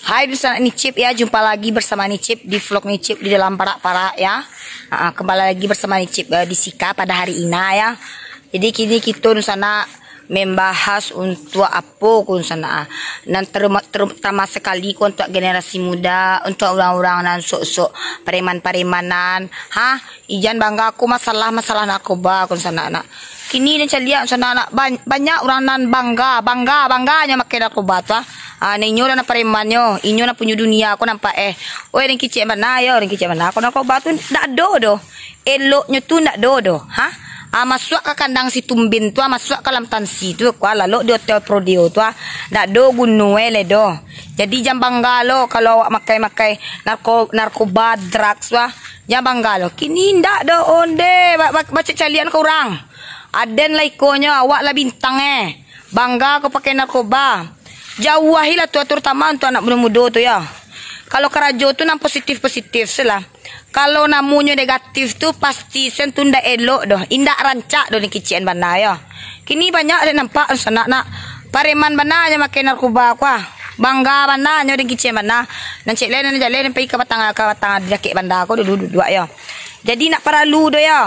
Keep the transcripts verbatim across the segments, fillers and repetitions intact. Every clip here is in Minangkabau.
Hai, dunsanak Nicip ya, jumpa lagi bersama Nicip di vlog Nicip di dalam parak-parak ya. Ah, kembali lagi bersama Nicip, eh, di Sika pada hari ina ya. Jadi kini kito dunsanak membahas untuak apo ko dunsanak, ah. Nan terutama, terutama sekali ko untuak generasi muda, untuak urang-urang nan sok-sok pareman-paremanan. Ha, ijan bangga ko masalah-masalah narkoba ko dunsanak. Kini den caliak dunsanak, ban-, banyak urang nan bangga, bangga, bangganyo makai narkoba tu, ah. Ah, nah, inyo lah nan paremannyo, inyo nan punyo dunia ko nampak, eh. Oi, den kicek bana yo, den kicek bana. Ko narkoba tu ndak ado doh. Eloknyo tu ndak ado doh. Ha? Ah, masuak ka kandang si Tumbin tu, ah, masuak ka dalam tansi tu, ko, ah, lalok di hotel Prodeo tu, ah. Ndak ado guno e lai doh. Jadi jan bangga lo kalau awak makai-makai narko-, narkoba, drugs tu, ah. Jan bangga lo. Kini ndak doh, onde, ba-, ba-, bacaliak-caliakan ka urang. Aden lah ikonyo, awak lah bintang, eh. Bangga ko pakai narkoba. Jauahilah tu, terutama untuak anak mudo-mudo tu, yo. Kalau karajo tu nan positif-positif se lah. Kalau namonyo negatif tu, pasti sen tu ndak elok doh. Indak rancak doh den kicek bana, yo. Kini banyak den nampak sanak nak pareman bana nyo makai narkoba ko, ah. Bangga bana nyo den kicek bana. Nan cek lai, nan jaleh, nan pai ka batang, ka batang dakek banda ko dulu duduak, yo. Jadi ndak paralu doh, yo.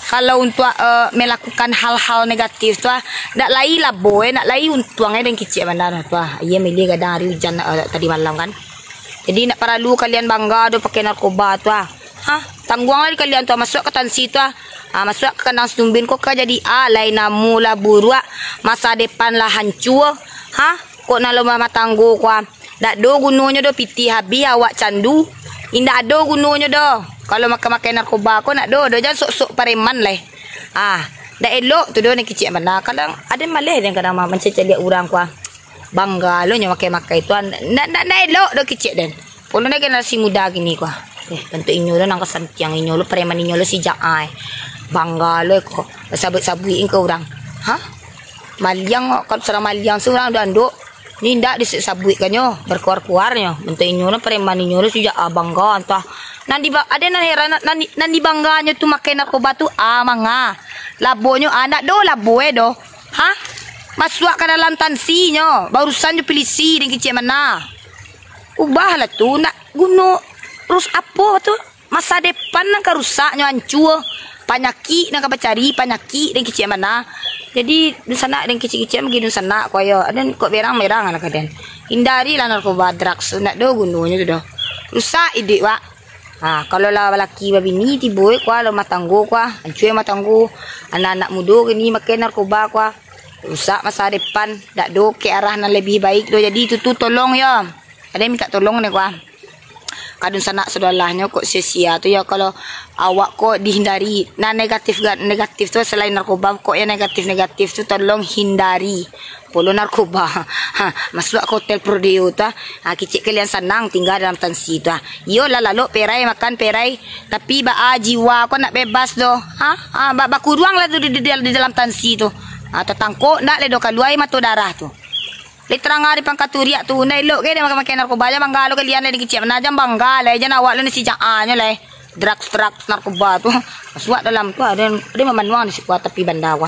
Kalau untuak, eh, melakukan hal-hal negatif tu, ah, ndak lai labo, eh, ndak lai untuang, eh, den kicek bana tu, ah. Iyo, milih gadang ari ujan, eh, tadi malam kan. Jadi ndak paralu kalian bangga doh pakai narkoba tu, ah. Ha, tangguanglah di kalian tu, ah, masuak ka tansi tu, ah. Ah, masuak ka kandang si Tumbin ko ka jadi alai namo lah buruak, masa depan lah hancua. Ha, kok nan lo bamatanggo ko, ah. Ndak do gunonyo doh, pitih habih awak candu. Indak ado gunonyo doh. Kalau makai-makai narkoba ko ndak do doh, jan sok-sok pareman lai. Ah, ndak elok tu doh, nan kicek bana. Kadang ado maleh den kadang ma-, mancaliak urang ko, ah. Bangga lo nyo makai-makai tu, ah. Ndak, ndak, ndak elok doh kicek den. Pulo ndak generasi muda kini ko, ah. Eh, bantuak inyo lo nan kasantiang inyo lo, pareman inyo lo sijak ai. Bangga lo ko, sabuik-sabuik ka urang. Ha? Maliang, kalau surang maliang surang dek andok. Ni ndak disabuikkannyo, berkuar-kuarnyo. Bantuak inyo lo pareman inyo lo sijak, ah, bangga antah. Nan di ba-, ado nan heran, nan, nan dibangganyo tu makai narkoba tu, ah, manga. Labonyo, ah, ndak do labo e doh. Ha? Masuak ka dalam tansinyo, baurusan jo pilisi den kicek bana. Ubahlah tu, ndak guno rus apo tu? Masa depan nan ka rusaknyo, ancua. Panyakik nan ka bacari, panyakik den kicek bana. Jadi, dunsanak den kicek-kicek bagi dunsanak ko yo. Aden kok berang-berang lah ka den. Hindarilah narkoba, drugs tu, ndak do gunonyo tu doh. Rusak iduik wak. Ha, kalau lah balaki babini tibo e ko, lo rumah tanggo ko, ancua rumah tanggo. Anak-anak mudo kini makai narkoba ko. Rusak masa depan, ndak do ke arah nan lebih baik doh. Jadi itu tu tolong yo. Ado minta tolong ni ko. Ka dunsanak saudarahnyo kok sia-sia tu yo, kalau awak kok dihindari. Nah, negatif ga-, negatif tu selain narkoba, kok yang negatif-negatif tu tolong hindari. Pulo narkoba. Ha, masuak ka hotel Prodeo tu, ah. Ha, kicek kalian sanang tingga dalam tansi tu, ah. Iyo lah lalok perai makan perai, tapi baa jiwa ko nak bebas doh. Ha? Ha, ba-, bakuruang lah tu di, di, di dalam tansi tu. Ha, tatangkok ndak lai doh kalua mato darah tu. Lai tarang ari pangka turiak tu, ndak elok ke den makai-makai narkoba, jan bangga lo kalian lai den kicek bana, jan bangga lai, jan awak lo nan sijak anyo lai. Drugs-drugs narkoba tu. Masuak dalam tu, ado, ado mamanuang di siko tapi banda ko.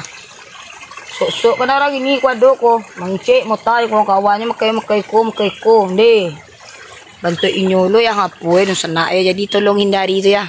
Sok-sok ka urang kini ko ado ko. Mangecek motai ko kawannyo makai-makai ko, makai ko, ndeh. Bantuak inyo lo yang apo e, dunsanak e. Jadi tolong hindari tu ya.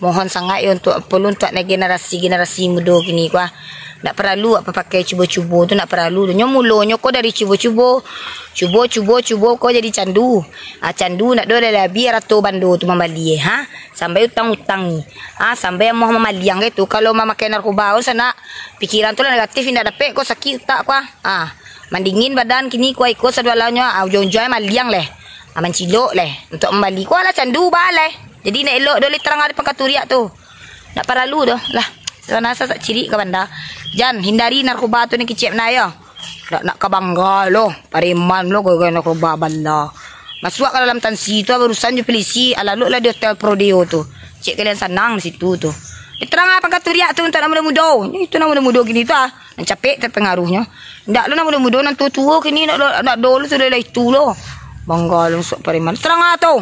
Mohon sangaik yo untuak, apo lo, untuak generasi-generasi mudo kini ko, ah. Ndak paralu apo pakai cubo-cubo tu, ndak paralu tu. Nyo mulonyo ko dari cubo-cubo. Cubo, cubo, cubo ko jadi candu. Ah, candu ndak do lai habih arato bando tu mambali e, ha? Sampai utang-utang ni. Ah, sampai amuah mamaliang ke tu. Kalau mamakai narkoba ko sanak, pikiran tu lah negatif, indak dapek ko sakik utak ko, ah. Ah, mandingin badan kini ko, iko sadualanyo, ah, ujuang-ujuang maliang leh. Ah, mancilok leh. Untuak mambali ko lah candu ba leh. Jadi ndak elok doh lai tarang ari pangka turiak tu. Ndak paralu doh lah. Sanak, sanak cirik ka banda. Jan, hindari narkoba tu ni kicek bana yo. Ndak nak ka bangga lo, pareman lo gara-gara narkoba bala. Masuak ka dalam tansi tu, ah, baurusan jo pilisi, ah, lalok lah di hotel Prodeo tu. Cek kalian sanang di situ tu. Lai tarang ari pangka turiak tu untuak anak mudo-mudo. Itu anak mudo-mudo kini tu, ah. Nan capek tapangaruhnyo. Ndak lo nan mudo-mudo, nan tuo-tuo kini ndak do, ndak do lo sudah lah itu lo. Bangga lo sok pareman. Tarang ari tu.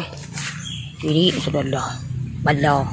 Cirik sudah lah. Bala.